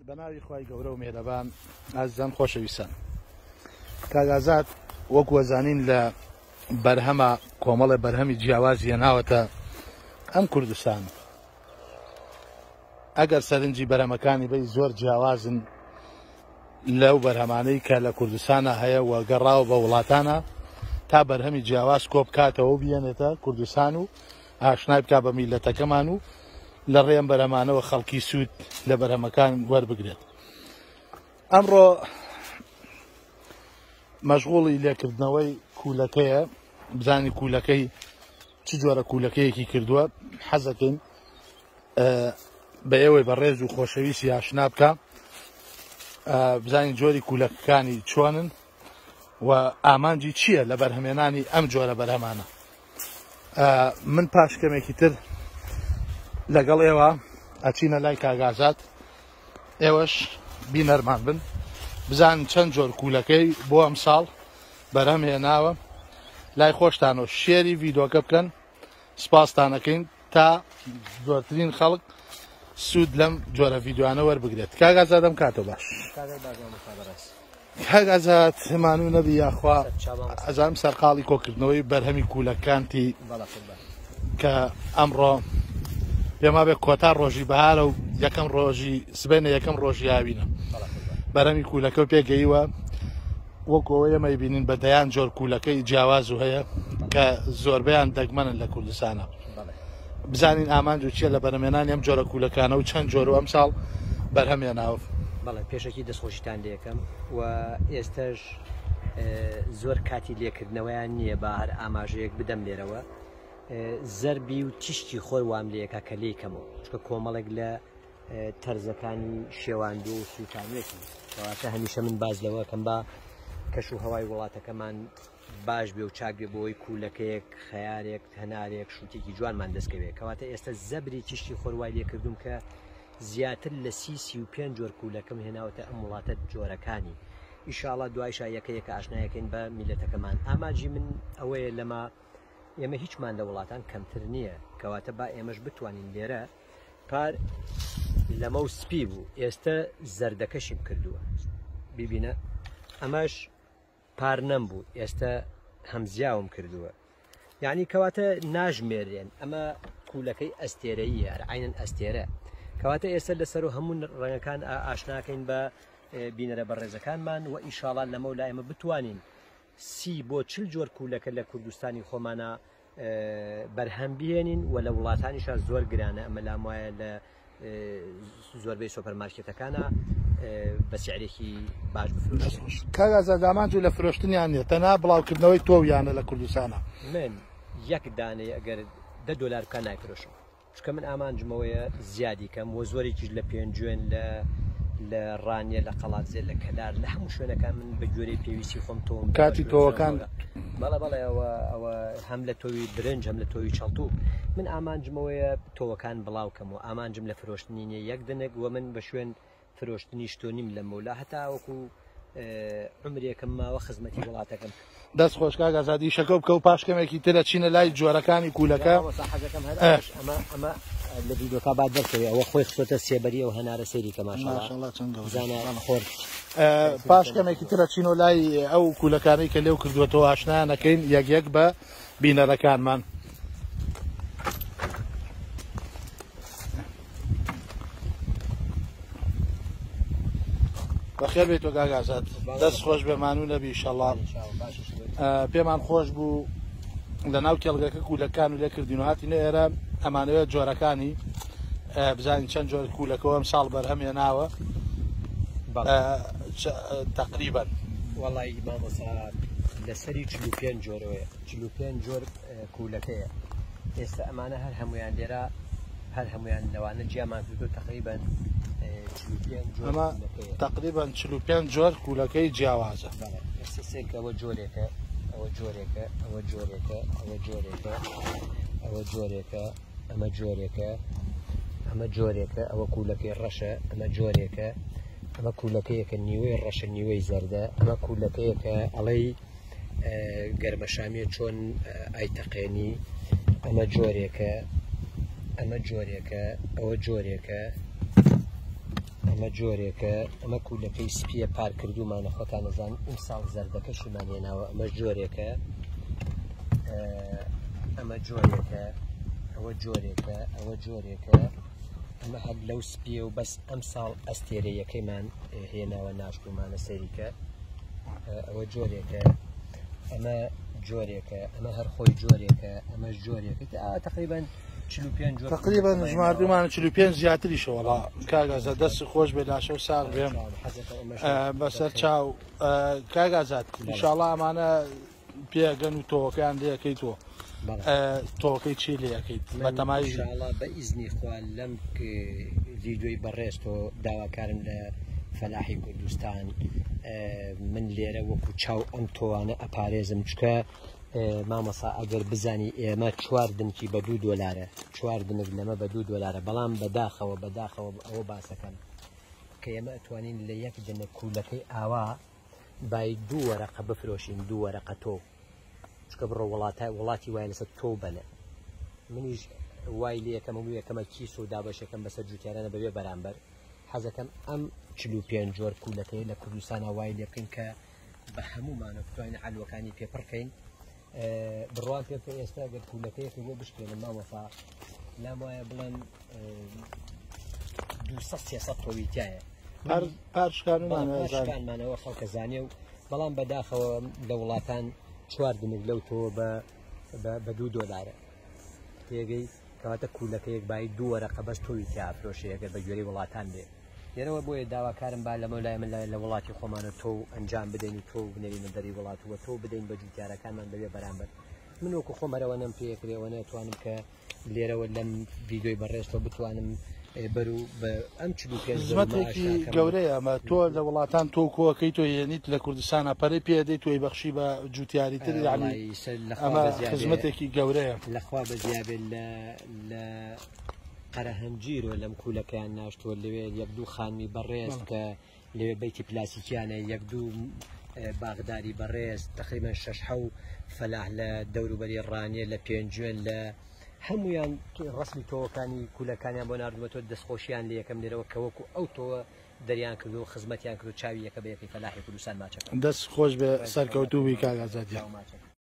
بەناوی خوای گەورە و مێرەبان ئازیزان خۆشەویستان کاک ئازاد وەکو ئەزانین لە بەرهەمە کۆمەڵێ بەرهەمی جیاواز هێناوەتە ئەم کوردستان ئەگەر سەرنجی بەرهەمەکانی بەی زۆر جیاوازن لەو بەرهەمانەی کە لە کوردستانە هەیە و گەڕاوە بە وڵاتانە تا بەرهەمی جیاواز کۆبکاتەوە و بیێنێتە کوردستان و ئاشنای بکا بە میلەتەکەمان و لە ڕێ ئەم بەرهەمانەوە خەڵکی سوود لە بەرهەمەکان وەربگرێت. ئەمڕۆ مەشغوڵی لێکردنەوەی کوولەکەیە بزانی کوولەکەی چ جۆرە کوولەکەیەکی کردووە حەزەکەین بە ئێوەی بەڕێز و خۆشەویستی ئاشنا بکە بزانین جۆری کوولەکەکانی چۆنن و ئامانجی چییە لە بەرهەمێنانی ئەم جۆرە بەرهەمانە من پاش کەمێکی تر لەگەڵ ئێوە ئەچینە لای کاگازات ئێوەش بینەرمان بن بزان چەند جۆر کوولەکەی بۆ ئەم ساڵ بەرهەم هێناوە لای خۆشتانەوە شێری ڤیدۆکە بکەن سپاستانەکەین تا زۆرترین خەڵک سوود لەم جۆرە ڤیدیۆانە وەربگرێت کاک ئازاد ئەم کاتە باش کاک ئازاد مانوو نەبی یاخوا ئەزانم سەرقاڵی کۆکردنەوەی بەرهەمی کوولەکانتی کە ئەمڕۆ پێما بێ کۆتا ڕۆژی بەهارە و یەکەم ڕۆژی سبێنە یەکەم ڕۆژی هاوینە بەرەمی کوولەکە و پێگەیوە وەکو ئەوەی ئێمە ئەیبینین بە دەیان جۆر کوولەکەی جیاواز و هەیە کە زۆربەیان دەگمەنن لە کوردستانە بزانین ئامانج و چیە لە بەرەمێنانی ئەم جۆرە کوولەکانە و چەند جۆر و ئەمساڵ بەرهەمێناوە. بەڵێ پێشەکی دەستخۆشیتان لێکەم و ئێستەش زۆر کاتی لێکردنەوەیان نییە با هەر ئاماژەیەک بدەم لێرەوە زەربی و تیشکی خۆر وام لەکە کە لێی کەمەوە چکە کۆمەڵێک لە تەرزەکانی شێواندووە و سووتانیەتی کەواتە هەمیشە من باز لەوە کەم با کەش و هەوای وڵاتەکەمان باش بێ و چاک بێ بۆی کوولەکەیەک خەیارێک هەنارێک شووتێکی جوانمان دەستکەوێت کەواتە ئێستا زەبری تیشکی خۆروای لێکردوم کە زیاتر لە 35 جۆر کوولەکەم هێناوەتە ئەم وڵاتە جۆرەکانی ئیشاڵا دوایشا یەکە یەکە ئاشنایەکەین بە میلەتەکەمان ئاماجی من ئەوەیە لەمە ئێمە هیچمان لە وڵاتان کەمتر نییە کەواتە با ئێمەش بتوانین لێرە پار لەمە و سپی بوو ئێستە زەردەکەشیم کردووە بیبینە ئەمەش پار نەم بوو ئێستە هەمزیاوم کردووە یعنی کەواتە ناژمێرێن ئەمە کوولەکەی ئەستێرەیە هەر عینەن ئەستێرە کەواتە ئێستا لەسەر و هەموو ڕەنگەکان ئاشناکەین بە بینەرە بەڕێزەکانمان و ئیشاڵا لەمە و لای ئێمە بتوانین سی بۆ چل جۆر کوولەکە لە کوردستانی خۆمانە بەرهەم بهێنین و لە وڵاتانیشا زۆر گرانە ئەمە لام وایە لە زۆربەی سۆپەرمارکێتەکانە بە سعرێکی باش بفرۆشن. کاک ئازاد ئامانج لە فرۆشتنیان نیە تەنها بڵاوکردنەوەی تۆویانە لە کوردستانە. من یەک دانەی ئەگەر دە دۆلار بکا نایفرۆشم. چونکە من ئامانجم ئەوەیە زیادی کەم وە زۆرێکیش لە پێنجوێن لە لە ڕانیە لە قەڵادزێ لە کەلار لە هەموو شوێنەکان من بە گوێرەی پێویستی خۆم تۆم کاتی تۆوەکان بەڵێ بەڵێ ئەوە ئەوە هەم لە تۆوی برنج هەم لە تۆوی چەڵتوو من ئامانجمەوەیە تۆوەکان بڵاو کەم و ئامانجم لە فرۆشتنی نیە یەک دنک وە من بە شوێن فرۆشتنیش تۆ نیم لەمەولا هەتا وەکو عمرێکم ماوە خزمەتی وڵاتەکەم دەست خۆش کاک ئازاد ئیشەکە بکە و پاش کەمێکی تر ئەچینە لای جۆرەکانی کوولەکە حەزەکەم هەر ئەمە ئەمە لە ڤیدۆکە با دەرکەوێ ئەوە خۆی خستۆتە سێبەری ئەو هەنارە سەیری کە ماشاءاللە چەند گەورە زانە خۆر پاش کەمێکی تر ئەچینەوە لای ئەو کوولەکانەی کە لێو کردووەتەوە ئاشنایان ئەکەین یەک یەک بە بینەرەکانمان. بەخێر بێیتەوە کاک ئازاد دەست خۆش بێ مانوو نەبی ئیشەڵا پێمان خۆش بوو لە ناو کێڵگەکە کوولەکان و لێ کردین و هاتینە ئێرە ئەمانەوێت جۆرەکانی بزانین چەند جۆر کوولەکەەوە ئەم ساڵ بەرهەم هێناوە تقریبا وەڵی مامۆسا لەسەری 45 جۆرەوەیە 45 جۆر کوولەکەیە ئێستا ئەمانە هەر هەمویان لێرە هەر هەمویان لەوانە جیامان کردو تقریبا ئەمە تقریبا 45 جۆر کوولەکەی جیاوازە ئێستا سێکە ئەوە جۆرێکە ئەوە جۆرێکە ئەوە جۆرێکە ئەوە جۆرێکە ئەوە جۆرێکە ئەمە جۆرێکە ئەمە جۆرێکە ئەوە کوولەکەی ڕەشە ئەمە جۆرێکە ئەمە کوولەکەیەکە نیوەی ڕەشە نیوەی زەردە ئەمە کوولەکەیەکە ئەڵەی گەرمەشامیە چۆن ئایتەقێنی ئەمە جۆرێکە ئەمە جۆرێکە ئەوە جۆرێکە ئەمە جۆرێکە، ئەمە کوولەکەی سپیە پار کردوومانە، خۆتان ئەزان ئیمساڵ زەردەکەشیمان هێناوە، ئەمە جۆرێکە، ئەمە جۆرێکە، ئەوە جۆرێکە، ئەوە جۆرێکە، ئەمە هەر لەو سپیە و بەس ئەم ساڵ ئەستێرەیەکەیمان هێناوە ناشتومانە سەریکە. ئەوە جۆرێکە، ئەمە جۆرێکە، ئەمە هەر خۆی جۆرێکە، ئەمە جۆرێکە. تقریبا 45 جۆر. تقریبا ژماردومان 45 زیاتریشە. وەڵا کاک ئازاد دەست خۆش بێ، لاشە و ساغ بێم بەسەر چاو. کاک ئازاد ئینشاڵڵا ئەمانە پێگەن و تۆوەکەیان لێەکەیت تۆ تۆکەی چی لێەکەیت بەتەمای؟ ئینشاڵڵا بە ئیزنی خوا لەم ڤیدیۆی بەڕێز تۆ داواکارم لە فەلاحی کوردستان، من لێرە وەکو چاو ئەم تۆوانە ئەپارێزم، چکە مامۆسا ئەگەر بزانی ئێمە 4 دنکی بە 2 دۆلارە، 4 دنک لەمە بە 2 دۆلارە، بەڵام بەداخەوە بەداخەوە ئەوە باسەکەم کە ئێمە ئەتوانین لە یەک دنک کوولەکەی ئاوا بای 2 وەرەقە بفرۆشین، 2 وەرەقە تۆ، چکە بڕۆ وڵاتی وای لەسەر تۆ بەنە. منیش وای لێ یەکەم و یەکەمە کیس و دابەشەکەم بەسەر جوتیارانە بەبێ بەرامبەر. حەزەکەم ئەم 45 جۆر کوولەکەی لە کوردستانە وای لێ بکەین کە بە هەمومانە بتوانین عەلوەکانی پێ پڕکەین. بڕوان پێ بکە ئێستا ئەگەر کوولەکەیەکی بۆ بشکێنم مامۆستا، لام وایە بڵێن 200-300 تۆوی تایە. پارشکانمانەوە خەڵکە زانێ و بەڵام بەداخەوە لە وڵاتان 4 دنک لەو تۆ بە 2 دۆلارە. تێگەی کەواتە کوولەکەیەک بای 2 وەرەقە بەس تۆوی تیا ئەفرۆشێ ئەگەر بە گوێرەی وڵاتان بێ. لێرەوە بۆیە داواکارم با لەمە لای من لە وڵاتی خۆمانە تۆ ئەنجام بدەین و تۆ بنێرینە دەری وڵات و تۆ بدەین بە جوتیارەکانمان بەبێ بەرامبەر. من وەکو خۆم هەرەوە نەم پێکرێ ئەوە نەتوانم کە لێرەوە لەم ڤیدیۆی بەڕێزتەوە بتوانم بەرو بە ئەم 45 خزمەتێکی گەورەیە. ئەمە تۆ لە وڵاتان تۆ کۆکەی تۆ هێنیت لە کوردستانە پەرەی پێدەیت تۆی بەخشی بە جوتیاری تر، یعنی ئەمە خزمەتێکی گەورەیە. لەخوا بەزیابێت لە قەرەهەنجیرۆ لەم کوولەکەیان ناشتووە، لەوێ یەک دوو خانمی بەڕێز کە لەوێ بەیتی پلاسیکیانە، یەک دوو باغداری بەڕێز، تقریبا 6 حەو فەلاح لە دەوروبەری ڕانیە، لە پێنجوێن، لە هەمویان ڕسمی تۆوەکانی کوولەکانیان بۆ ناردومەتەوە. دەستخۆشیان لە یەکەم لێرەوە کە وەکو ئەو تۆوە دەریان کردو و خزمەتیان کرد و چاوی یەکە بە یەکەی فەلاحی کوردستان ماچەکە. دەست خۆش بێ، سەرکەوتوو بی کاک ئازاد گیان. ماچەکە.